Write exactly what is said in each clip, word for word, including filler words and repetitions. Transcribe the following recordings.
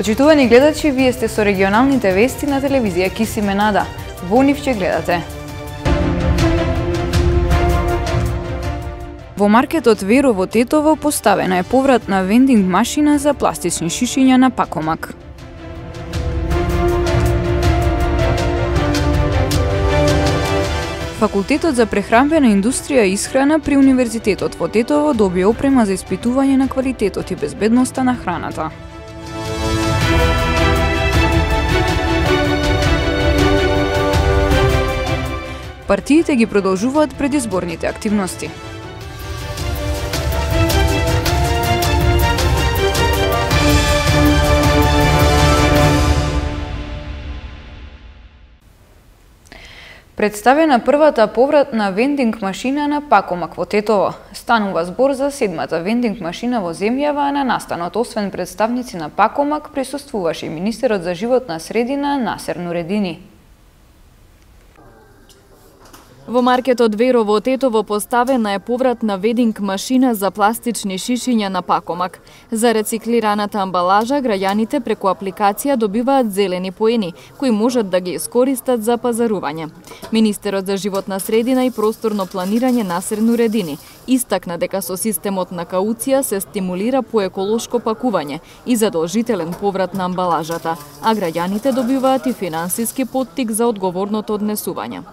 Почитувани гледачи, вие сте со регионалните вести на телевизија Кисименада. Во нив ќе гледате. Во маркетот Веро во Тетово поставена е повратна вендинг машина за пластични шишиња на Пакомак. Факултетот за прехранбена индустрија и исхрана при Универзитетот во Тетово добија опрема за испитување на квалитетот и безбедноста на храната. Партиите ги продолжуваат предизборните активности. Представена првата повратна вендинг машина на Пакомак во Тетово. Станува збор за седмата вендинг машина во земјава, а на настанот освен представници на Пакомак присуствуваше и министерот за животна средина Насер Нуредини. Во маркетот Веро во Тетово поставена е повратна вендинг машина за пластични шишиња на Пакомак. За рециклираната амбалажа граѓаните преку апликација добиваат зелени поени, кои можат да ги искористат за пазарување. Министерот за животна средина и просторно планирање Насер Нуредини истакна дека со системот на кауција се стимулира по еколошко пакување и задолжителен поврат на амбалажата, а граѓаните добиваат и финансиски поттик за одговорното однесување.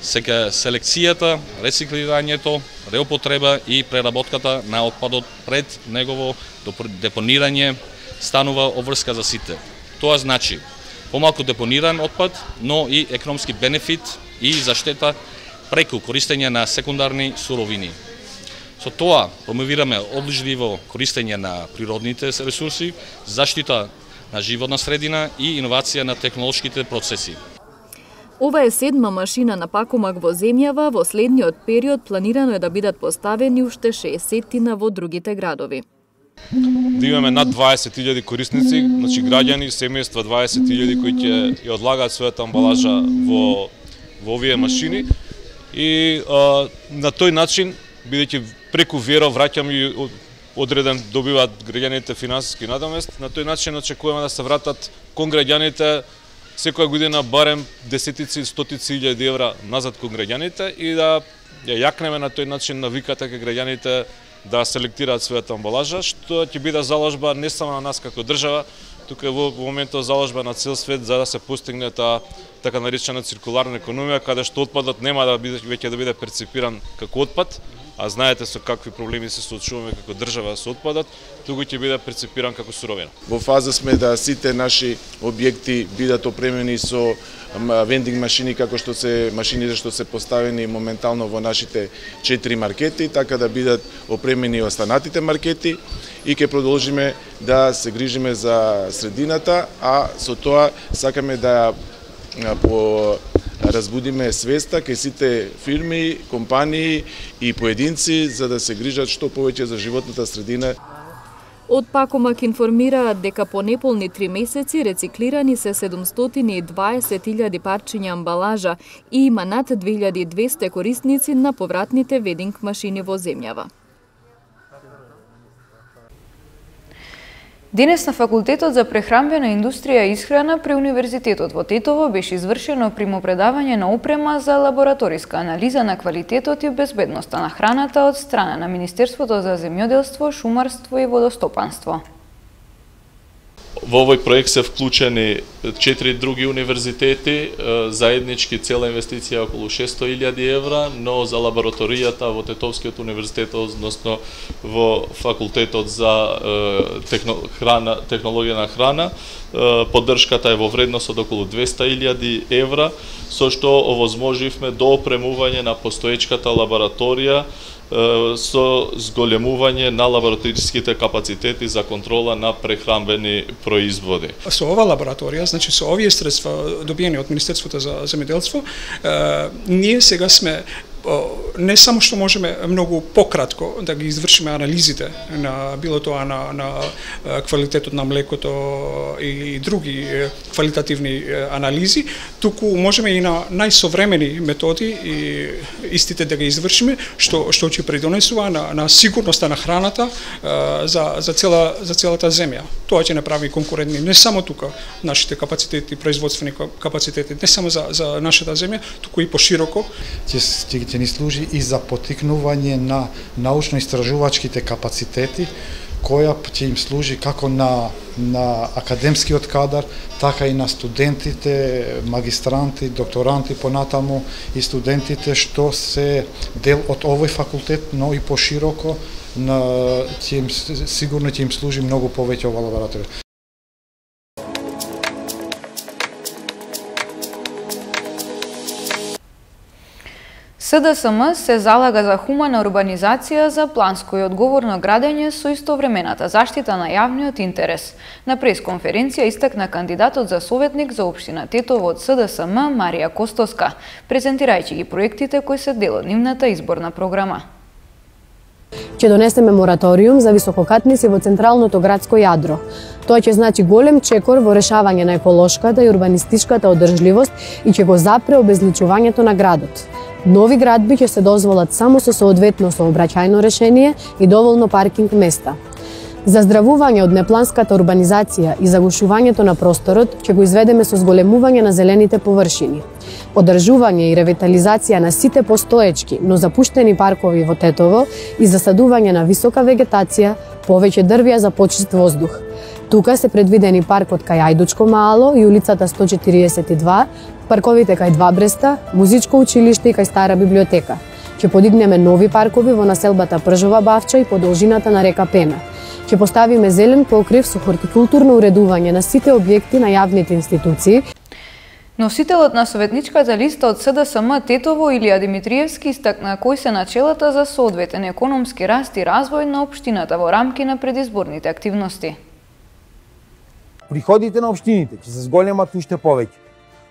Сега селекцијата, рециклирањето, реупотреба и преработката на отпадот пред негово депонирање станува обврска за сите. Тоа значи помалку депониран отпад, но и економски бенефит и заштета преку користење на секундарни суровини. Со тоа промовираме одлежливо користење на природните ресурси, заштита на животна средина и иновација на технолошките процеси. Ова е седма машина на Пакомак во земјава, во следниот период планирано е да бидат поставени уште шеесеттина во другите градови. Да имаме над дваесет илјади корисници, значи граѓани, семејства дваесет илјади кои ќе ја одлагаат својата амбалажа во во овие машини и а, на тој начин, бидејќи преку Веро враќам и одреден добиваат граѓаните финансиски надомест, на тој начин очекуваме да се вратат кон граѓаните секоја година барем десетици, стотици илјади евра назад кон граѓаните и да ја јакнеме на тој начин навиката кај граѓаните да селектираат својата амбалажа, што ќе биде заложба не само на нас како држава, тука во моментот заложба на цел свет за да се постигне таа така наречена циркуларна економија, каде што отпадот нема да биде веќе да биде перцепиран како отпад, а знаете со какви проблеми се соочуваме како држава со отпадот, туку ќе биде перцепиран како суровина. Во фаза сме да сите наши објекти бидат опремени со вендинг машини како што се машините што се поставени моментално во нашите четири маркети, така да бидат опремени и останатите маркети и ќе продолжиме да се грижиме за средината, а со тоа сакаме да по разбудиме свеста кај сите фирми, компании и поединци за да се грижат што повеќе за животната средина. Од Пакомак информираат дека по неполни три месеци рециклирани се седумстотини и дваесет илјади парчиња амбалажа и има над две илјади и двесте корисници на повратните вендинг машини во земјава. Денес на Факултетот за прехранбена индустрија и исхрана при Универзитетот во Тетово беше извршено примопредавање на опрема за лабораториска анализа на квалитетот и безбедноста на храната од страна на Министерството за земјоделство, шумарство и водостопанство. Во овој проект се вклучени четири други универзитети, заеднички цела инвестиција околу шесто илјади евра, но за лабораторијата во Тетовскиот универзитет, односно во Факултетот за техно, храна, технологија на храна, поддршката е во вредност од околу двесте илјади евра, со што овозможивме доопремување на постоечката лабораторија со зголемување на лабораториските капацитети за контрола на прехранбени производи. Со ова лабораторија, значи со овие средства добиени од Министерството за земјоделство, ние сега сме не само што можеме многу пократко да ги извршиме анализите на било тоа на, на квалитетот на млекото и други квалитативни анализи, туку можеме и на најсовремени методи и истите да ги извршиме, што што ќе придонесува на, на сигурноста на храната за за цела за целата земја. Тоа ќе направи конкурентни не само тука нашите капацитети, производствени капацитети, не само за за нашата земја, туку и пошироко. Ќе ќе ни служи и за поттикнување на научно-истражувачките капацитети, која ќе им служи како на на академскиот кадар, така и на студентите, магистранти, докторанти понатаму и студентите што се дел од овој факултет, но и пошироко на ќе им сигурно ќе им служи многу повеќе ова лабораторија. С Д С М се залага за хумана урбанизација, за планско и одговорно градење со истовремената заштита на јавниот интерес. На пресконференција истакна кандидатот за советник за општина Тетово од С Д С М Марија Костоска, презентирајќи ги проектите кои се дел од нивната изборна програма. Ќе донесеме мораториум за висококатници во централното градско јадро. Тоа ќе значи голем чекор во решавање на еколошката и урбанистичката одржливост и ќе го запре обезличувањето на градот. Нови градби ќе се дозволат само со соодветно сообраќајно решение и доволно паркинг места. За здравување од непланската урбанизација и загушувањето на просторот ќе го изведеме со зголемување на зелените површини. Одржување и ревитализација на сите постоечки, но запуштени паркови во Тетово и засадување на висока вегетација, повеќе дрвја за почист воздух. Тука се предвидени паркот кај Ајдучко Маало и улицата сто четириесет и два, парковите кај Два Бреста, музичко училиште и кај Стара библиотека. Ќе подигнеме нови паркови во населбата Пржова Бавча и по должината на река Пена. Ќе поставиме зелен покрив со хортикултурно уредување на сите објекти на јавните институции. Носителот на советничката листа од С Д С М Тетово Илија Димитриевски истакна кои се начелата за соодветен економски раст и развој на општината во рамки на предизборните активности. Приходите на општините ќе се зголемат уште повеќе.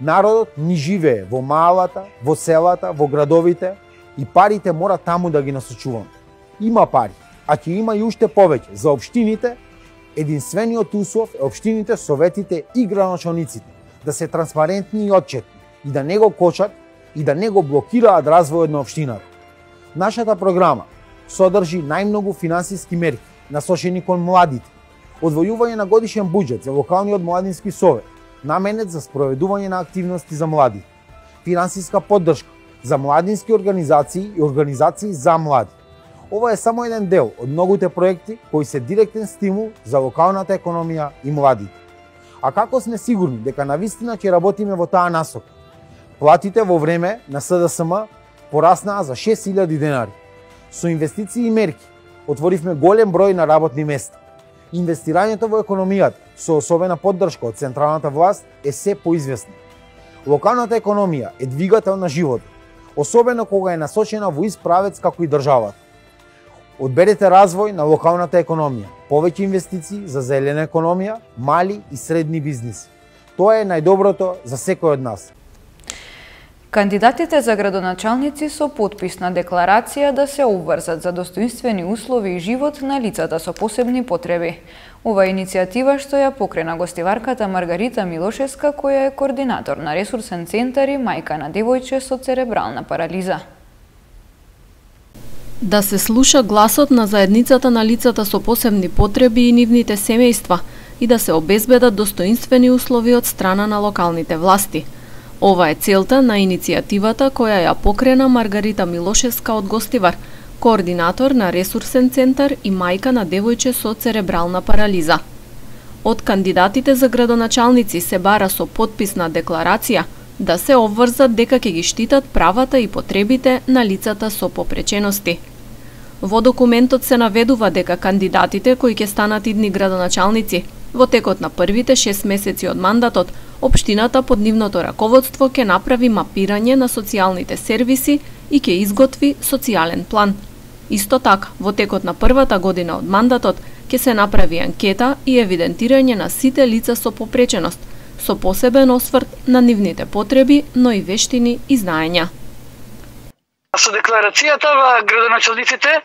Народот ни живее во малата, во селата, во градовите и парите мора таму да ги насочуваме. Има пари, а ќе има и уште повеќе за општините. Единствениот услов е општините, советите и градоначалниците да се транспарентни и отчетни и да не го кочат и да не го блокираат развојот на општината. Нашата програма содржи најмногу финансиски мерки насочени кон младите, одвојување на годишен буџет за локалниот младински совет, наменет за спроведување на активности за млади, финансиска поддршка за младински организации и организации за млади. Ова е само еден дел од многуте проекти кои се директен стимул за локалната економија и младите. А како сме сигурни дека навистина ќе работиме во таа насока? Платите во време на С Д С М пораснаа за шест илјади денари. Со инвестиции и мерки отворивме голем број на работни места. Инвестирањето во економијата со особена поддршка од централната власт е се поизвестно. Локалната економија е двигател на животот, особено кога е насочена во ист правец како и државата. Одберете развој на локалната економија, повеќе инвестиции за зелена економија, мали и средни бизниси. Тоа е најдоброто за секој од нас. Кандидатите за градоначалници со потписна декларација да се обврзат за достоинствени услови и живот на лицата со посебни потреби. Ова е иницијатива што ја покрена гостиварката Маргарита Милошевска, која е координатор на ресурсен центар и мајка на девојче со церебрална парализа. Да се слуша гласот на заедницата на лицата со посебни потреби и нивните семејства и да се обезбедат достоинствени услови од страна на локалните власти. Ова е целта на иницијативата која ја покрена Маргарита Милошевска од Гостивар, координатор на ресурсен центар и мајка на девојче со церебрална парализа. Од кандидатите за градоначалници се бара со потписна декларација да се обврзат дека ќе ги штитат правата и потребите на лицата со попречености. Во документот се наведува дека кандидатите кои ќе станат идни градоначалници во текот на првите шест месеци од мандатот, општината под нивното раководство ќе направи мапирање на социјалните сервиси и ќе изготви социјален план. Исто така, во текот на првата година од мандатот ќе се направи анкета и евидентирање на сите лица со попреченост, со посебен осврт на нивните потреби, но и вештини и знаења. Со декларацијата градоначалниците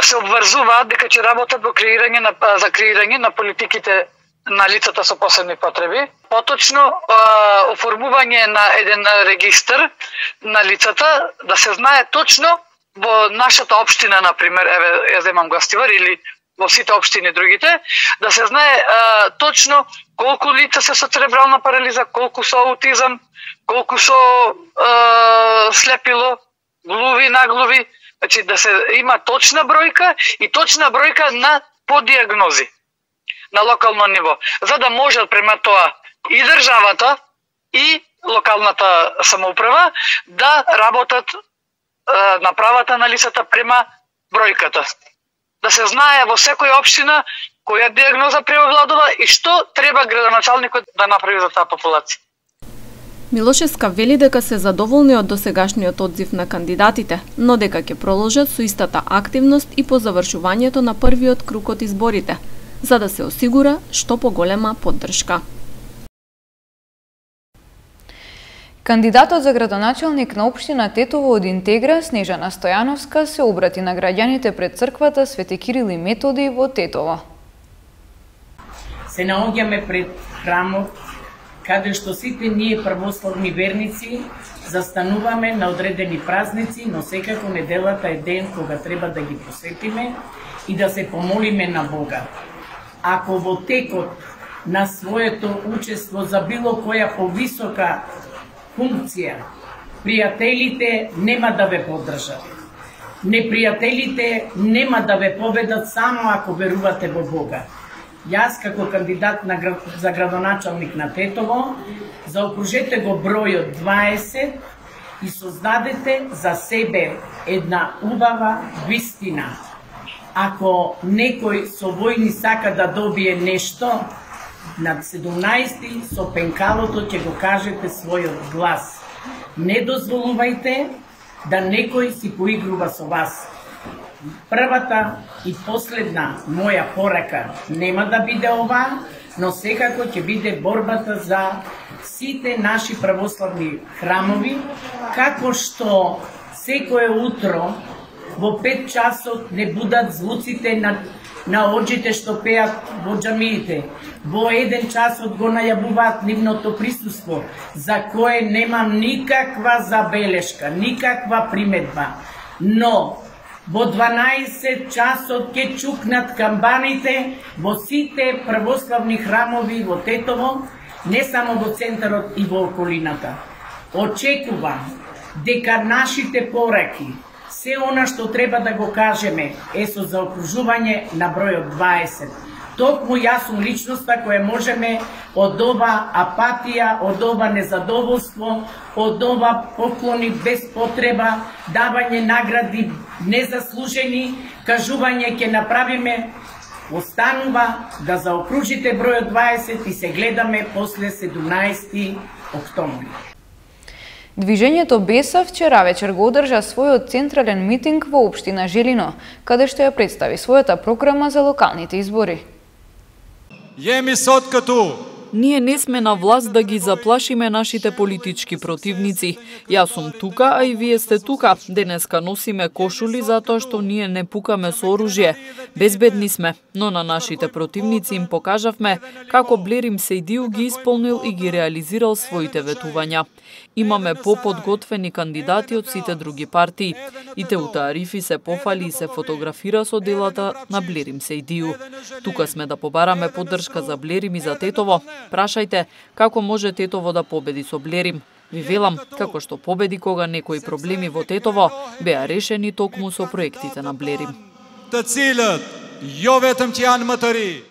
се обврзуваат дека ќе работат во креирање на за креирање на политиките на лицата со посебни потреби, поточно оформување на еден регистар на лицата, да се знае точно во нашата општина, например, еве ја земам Гостивар или во сите општини другите, да се знае а, точно колку лица се со церебрална парализа, колку со аутизам, колку со а, слепило, глуви, наглуви, значи да се има точна бројка и точна бројка на подиагнози на локално ниво, за да може према тоа и државата и локалната самоуправа да работат а, на правата на лицата према бројката. Да се знае во секоја општина која диагноза преовладува и што треба градоначалникот да направи за таа популација. Милошевска вели дека се задоволни од досегашниот одзив на кандидатите, но дека ќе продолжат со истата активност и по завршувањето на првиот круг од изборите, за да се осигура што поголема поддршка. Кандидатот за градоначалник на општина Тетово од Интегра, Снежана Стојановска, се обрати на граѓаните пред црквата Свети Кирил и Методи во Тетово. Се наоѓаме пред храмот, каде што сите ние православни верници застануваме на одредени празници, но секако неделата е ден кога треба да ги посетиме и да се помолиме на Бога. Ако во текот на своето учество за било која повисока функција, пријателите нема да ве поддржат. Непријателите нема да ве победат само ако верувате во Бога. Јас како кандидат на, за градоначалник на Тетово, заокружете го бројот дваесет и создадете за себе една убава вистина. Ако некој со војни сака да добие нешто, на седумнаесети со пенкалото ќе го кажете својот глас. Не дозволувајте да некој си поигрува со вас. Првата и последна моја порака нема да биде ова, но секако ќе биде борбата за сите наши православни храмови, како што секое утро во пет часот не будат звуците на на оџите што пеат во џамиите. Во еден часот го најавуваат нивното присуство, за кое немам никаква забелешка, никаква приметба. Но во дванаесет часот ќе чукнат камбаните во сите православни храмови во Тетово, не само во центарот и во околината. Очекувам дека нашите пораки, се она што треба да го кажеме е со заокружување на бројот дваесет. Токму јас сум личноста која можеме од ова апатија, од ова незадоволство, од ова поклони без потреба, давање награди незаслужени, кажување ќе направиме, останува да заокружите бројот дваесет и се гледаме после седумнаесети октомври. Движењето Беса вчера вечер го одржа својот централен митинг во општина Желино, каде што ја представи својата програма за локалните избори. Јеми соткату! Ние не сме на власт да ги заплашиме нашите политички противници. Јас сум тука, а и вие сте тука. Денеска носиме кошули затоа што ние не пукаме со оружје. Безбедни сме, но на нашите противници им покажавме како Блерим Сејдију ги исполнил и ги реализирал своите ветувања. Имаме поподготвени кандидати од сите други партии. И Теута Арифи се пофали и се фотографира со делата на Блерим Сејдију. Тука сме да побараме поддршка за Блерим и за Тетово. Прашајте како може Тетово да победи со Блерим. Ви велам, како што победи кога некои проблеми во Тетово беа решени токму со проектите на Блерим. Та целот, ја ветам ти Ан Матари.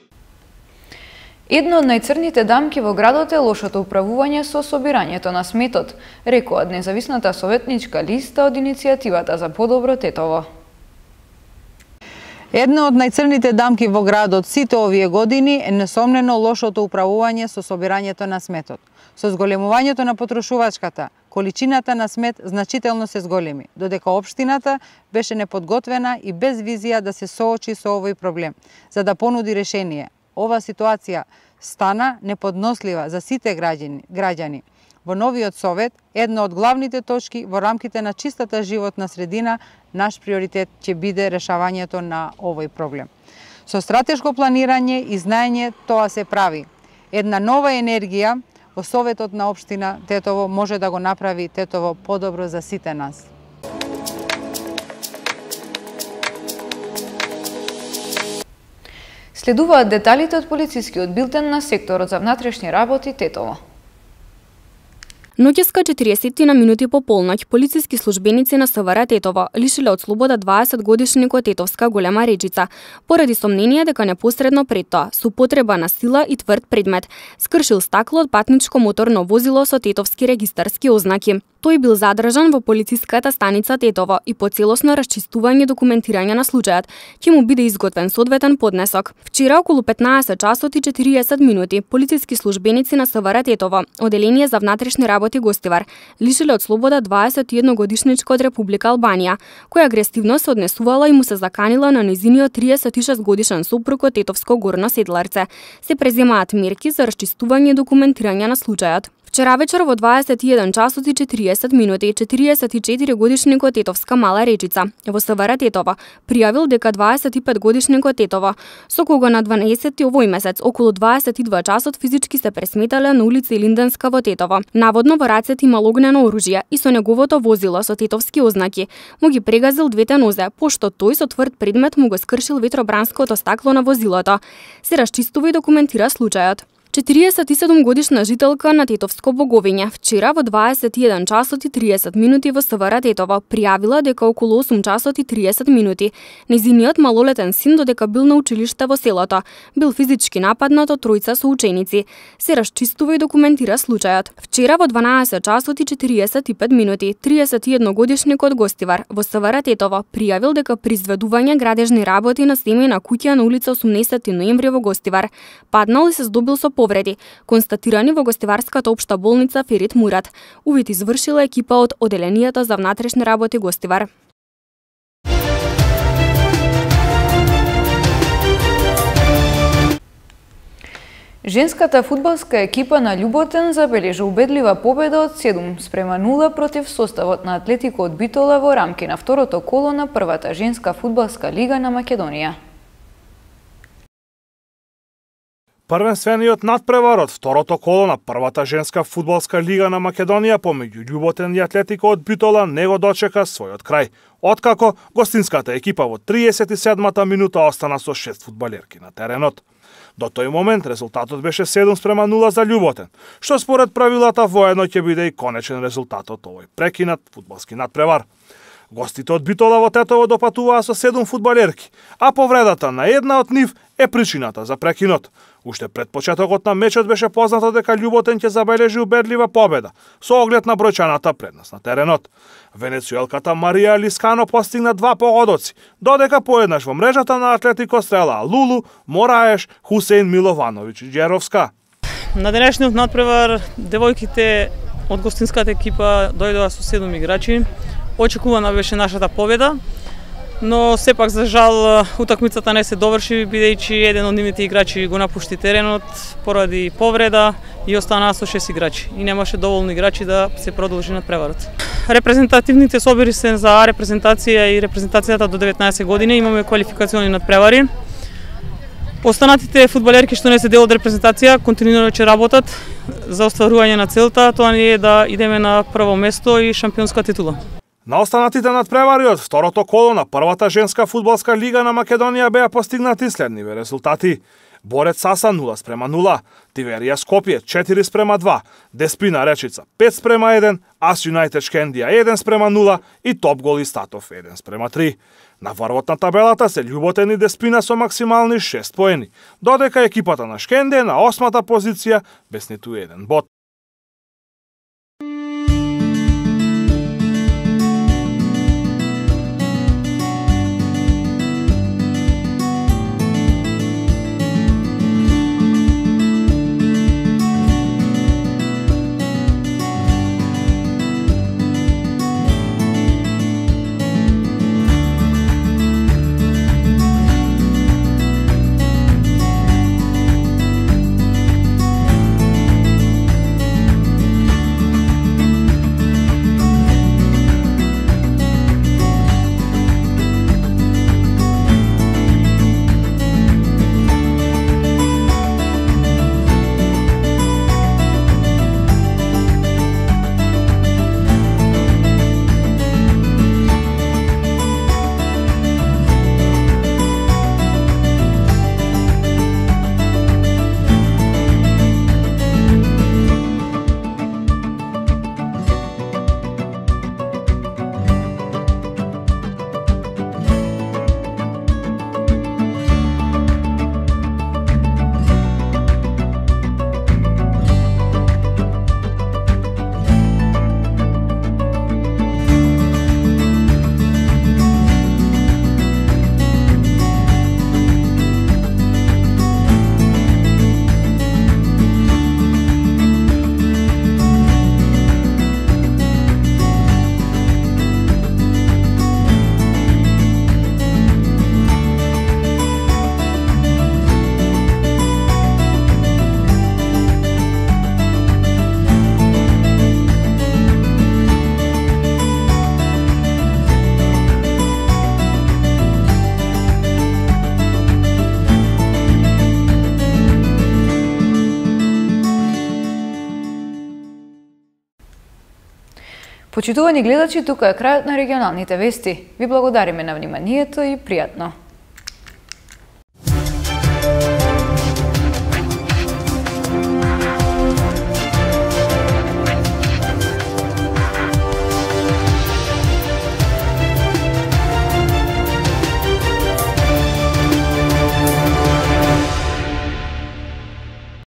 Едно од најцрните дамки во градот е лошото управување со собирањето на сметот, рекоат независната советничка листа од иницијативата за подобро Тетово. Една од најцрните дамки во градот сите овие години е несомнено лошото управување со собирањето на сметот. Со зголемувањето на потрошувачката, количината на смет значително се зголеми, додека општината беше неподготвена и без визија да се соочи со овој проблем, за да понуди решение. Ова ситуација стана неподнослива за сите граѓани. граѓани. Во новиот совет, една од главните точки во рамките на чистата животна средина, наш приоритет ќе биде решавањето на овој проблем. Со стратешко планирање и знаење тоа се прави. Една нова енергија во Советот на општина Тетово може да го направи Тетово подобро за сите нас. Следуваат деталите од полицискиот билтен на секторот за внатрешни работи Тетово. Ноќеска четириесет на минути по полноќ, полициски службеници на СВР Тетово лишиле од слобода дваесет годишникот Тетовска Голема Речица, поради сомнение дека непосредно пред тоа, со потреба на сила и тврд предмет, скршил стакло од патничко моторно возило со тетовски регистарски ознаки. Тој бил задржан во полициската станица Тетово и по целосно расчистување и документирање на случајот ќе му биде изготвен соодветен поднесок. Вчера околу петнаесет часот и четириесет минути полициски службеници на СВР Тетово, оделение за внатрешни работи Гостивар, лишиле од слобода дваесет и едно годишничка од Република Албанија, која агресивно се однесувала и му се заканила на нејзиниот триесет и шест годишен сопруг од Тетовско Горно Седларце. Се преземаат мерки за расчистување и документирање на случајот. Вчера вечер во дваесет и еден часот и четириесет минути четириесет и четири годишникот Тетовска Мала Речица во СВР Тетово пријавил дека дваесет и пет годишникот Тетово, со кого на дванаесети овој месец околу дваесет и два часот физички се пресметале на улица Илинденска во Тетово. Наводно во рацете имал огнено оружје и со неговото возило со тетовски ознаки му ги прегазил двете нозе, пошто тој со тврд предмет му го скршил ветробранското стакло на возилото. Се расчистува и документира случајот. четириесет и седум годишна жителка на Тетовско Боговиње вчера во дваесет и еден часот и триесет минути во СВР Тетово пријавила дека околу осум часот и триесет минути нејзиниот малолетен син додека бил на училиште во селото, бил физички нападнат од тројца соученици. Се расчистува и документира случајот. Вчера во дванаесет часот и четириесет и пет минути триесет и едно годишникот Гостивар во СВР Тетово пријавил дека при изведување градежни работи на семејна куќа на улица осумнаесети ноември во Гостивар паднал и се здобил со повреди, констатирани во Гостиварската општа болница Ферит Мурат. Увид извршила екипа од Оделенијата за внатрешни работи Гостивар. Женската фудбалска екипа на Љуботен забележа убедлива победа од седум спрема нула против составот на Атлетико од Битола во рамки на второто коло на првата женска фудбалска лига на Македонија. Првенствениот надпревар од второто коло на првата женска фудбалска лига на Македонија помеѓу Љуботен и Атлетико од Битола не го дочека својот крај, откако гостинската екипа во триесет и седмата минута остана со шест фудбалерки на теренот. До тој момент резултатот беше седум спрема нула за Љуботен, што според правилата воедно ќе биде и конечен резултат од овој прекинат фудбалски надпревар. Гостите од Битола во Тетово допатуваа со седум фудбалерки, а повредата на една од нив е причината за прекинот. Уште пред почетокот на мечот беше познато дека Љуботен ќе забележи убедлива победа со оглед на бројчаната предност на теренот. Венецуелката Марија Лискано постигна два погодоци, додека поеднаш во мрежата на Атлетико стрелаа Лулу, Мораеш, Хусеин Миловановиќ и Џеровска. На денешниот надпревар девојките од гостинската екипа дојдоа со седум играчи. Очекувана беше нашата победа, но сепак за жал утакмицата не се доврши бидејќи еден од нивните играчи го напушти теренот поради повреда и останаа со шест играчи и немаше доволно играчи да се продолжи надпреварот. Репрезентативните собери се за А репрезентација и репрезентацијата до деветнаесет години, имаме квалификациони надпревари. Останатите фудбалерки што не се дел од репрезентација континуирано ќе работат за остварување на целта, тоа не е да идеме на прво место и шампионска титула. На останатите надпревари од второто коло на првата женска фудбалска лига на Македонија беа постигнати следниве резултати. Борец Саса нула спрема нула, Тиверија Скопје четири спрема два, Деспина Речица пет спрема еден, Ас Юнајтед Шкендија еден спрема нула и Топ Гол Истатов еден спрема три. На врвот на табелата се Љуботен и Деспина со максимални шест поени, додека екипата на Шкенде на осмата позиција без ниту еден бод. Почитувани гледачи, тука е крајот на регионалните вести. Ви благодариме на вниманието и пријатно.